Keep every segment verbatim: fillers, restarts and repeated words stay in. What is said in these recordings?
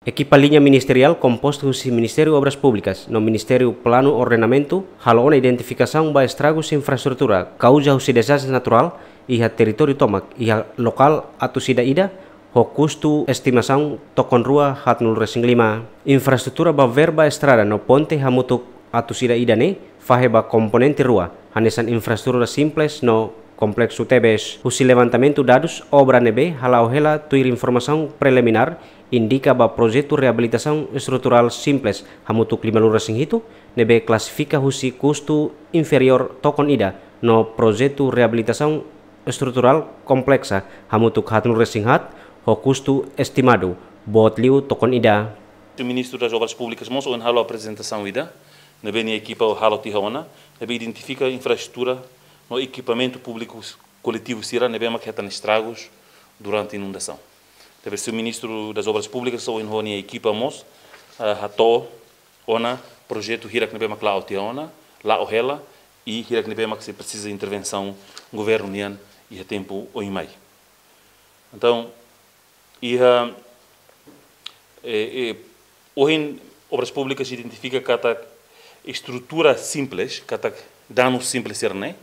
Ekipa liña ministeriál kompostu husi Ministériu Obras Públikas no Ministériu Planu Ordenamentu halo ona identifikasaun ba estragus infraestrutura kauza husi dezastre naturál iha territóriu tomak iha lokál atus ida-ida, ho kustu estimasaun tokon rua haatnulu resin lima. Infraestrutura ba verba estrada no ponte hamutuk atus ida-ida ne'e fahe ba komponente rua, hanesan infraestrutura simples no kompleksu tebes. Husi levantamentu dadus, obra ne'ebé hala'o hela tuir informasaun preliminár indika ba projetu reabilitasaun estruturál simples hamutuk limanulu resin hitu, ne'ebé klasifika husi kustu inferiór tokon ida, no projetu reabilitasaun estruturál kompleksa hamutuk haatnulu resin haat, ho kustu estimadu boot liu tokon ida. Ministru das Obras Públikas mós ohin halo aprezentasaun ida ne'ebé nia ekipa halo tiha ona, ne'ebé identifika infraestrutura no ekipamentu públiku koletivu sira ne'ebé mak hetan estragus durante inundasaun. Ne'ebé Ministru das Obras Públikas ohin ho nia ekipa mós, ah, hato'o ona projetu hirak ne'ebé mak la'o tiha ona, la'o hela, i hirak ne'ebé mak sei presiza intervensaun governu nian iha tempu oin mai. Entaun, iha, eh, eh, ohin Obras Públikas identifika katak estrutura simples, katak danu simples sira-ne'e,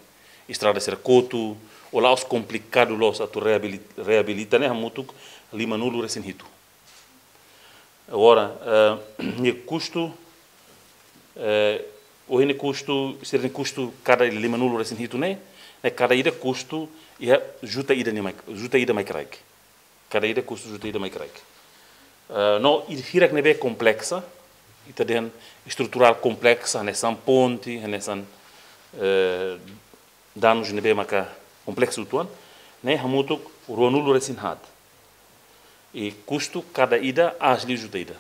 estrada sira kotu, ou la'ós komplikadu loos atu reabili-, reabilita ne'e hamutuk limanulu resin hitu. Agora, eh, nia kustu, eh, ohin nia kustu, sira-nia kustu kada limanulu resin hitu ne'e, ne'e kada ida kustu iha juta ida nia mai, juta ida mai kraik. Kada ida kustu juta ida mai kraik. Eh, no, i hirak ne'ebé kompleksa, ita dehan estruturál kompleksa, hanesan ponte, hanesan, eh, danus ne'ebé maka kompleksu uitoan, ne'e hamutuk ruanulu resin haat. I kustu kada ida aas liu juta ida.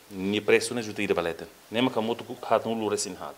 Nia presu ne'e juta ida ba leten. Ne'e maka hamutuk haatnulu resin haat.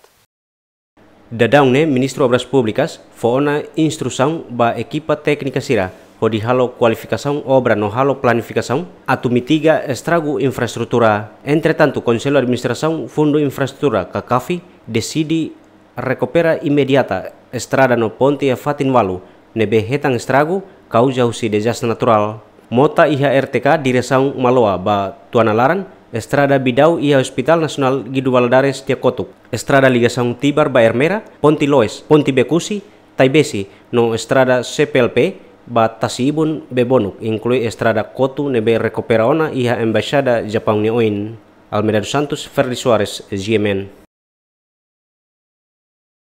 Daudaun ne'e Ministru Obras Públikas fó ona instrusaun ba ekipa téknika sira hodi halo kualifikasaun obra no halo planifikasaun atu mitiga estragu infraestrutura. Entretantu, Konsellu Administrasaun Fundu Infraestrutura, KAKAFI, deside rekupera imediata estrada no ponte iha fatin ualu ne'ebé hetan estragu kauza husi dezastre naturál. Mota iha R T K diresaun Maloa ba Tuanalaran, estrada Bidau iha Hospitál Nasionál Guido Valadares nia kotuk, estrada ligasaun Tibar ba Ermera, ponte Loes, ponte Bekusi, Taibesi, no estrada C P L P ba Tasi-Ibun, Bebonuk, inklui estrada kotu ne'ebé rekupera ona iha Embaixada Japaun nia oin. Almeida dos Santos, Ferdi Soares, G M N.